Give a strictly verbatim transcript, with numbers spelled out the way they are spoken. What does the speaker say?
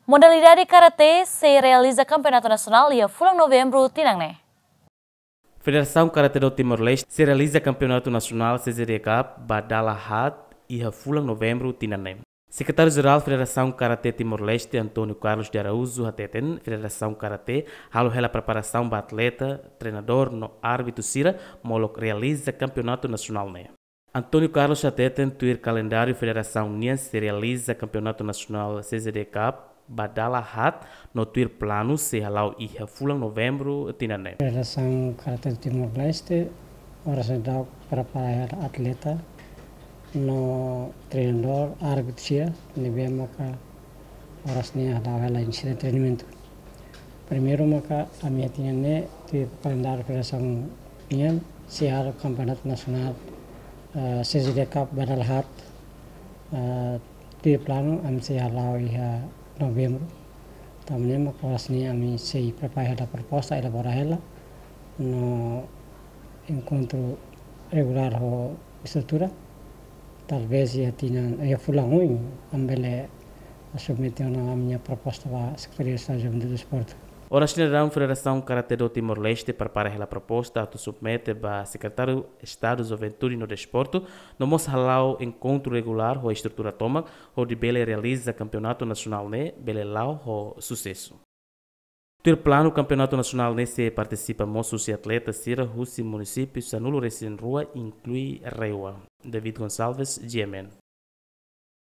Modalidade karate sei realiza kampeonatu nasionál iha fulan Novembru tinan ne'e. Federasaun Karate do Timor-Leste sei realiza Kampeonatu Nasionál C C D Cup ba dala haat iha fulan Novembru tinan ne'e. Sekretáriu Jerál Federasaun Karate Timor-Leste, António Carlos de Araújo, hateten Federasaun Karate halo hela preparasaun ba atleta, treinadór no árbitru sira molok realiza Kampeonatu Nasionál ne'e. António Carlos hateten tuir kalendáriu federasaun nian sei realiza Kampeonatu Nasionál C C D Cup ba dala haat no tuir planu sei hala'o iha fulan Novembru tinan ne'e. Federasaun Karate Timor-Leste oras ne'e daudaun prepara hela atleta no treinadór, árbitru sira ne'ebé maka oras ne'e hala'o hela inisiativa treinamentu. Primeiru maka ami-nia tinan ne'e tuir kalendáriu federasaun nian sei halo Kampeonatu Nasionál, eh, C C D Cup ba dala haat, eh, tuir planu ami sei hala'o iha Novembru. Tanba ne'e maka oras ne'e ami sei prepara hela proposta, elabora hela no enkontru regulár ho estrutura. Talvés iha tinan, iha fulan oin, ami bele submete ona ami-nia proposta ba Sekretaria Estadu Juventude Desportu. Oras ne'e daudaun Federasaun Karate do Timor-Leste prepara hela proposta atu submete ba Sekretáriu Estadu Juventude no Desportu, no mós hala'o enkontru regulár ho estrutura tomak, hodi bele realiza Kampeonatu Nasionál ne'e bele la'o ho susesu. Tuir planu Kampeonatu Nasionál ne'e sei partisipa mós husi atleta sira husi munisípiu sanulu-resin-rua, inklui RAEOA. David Gonçalves, G M N.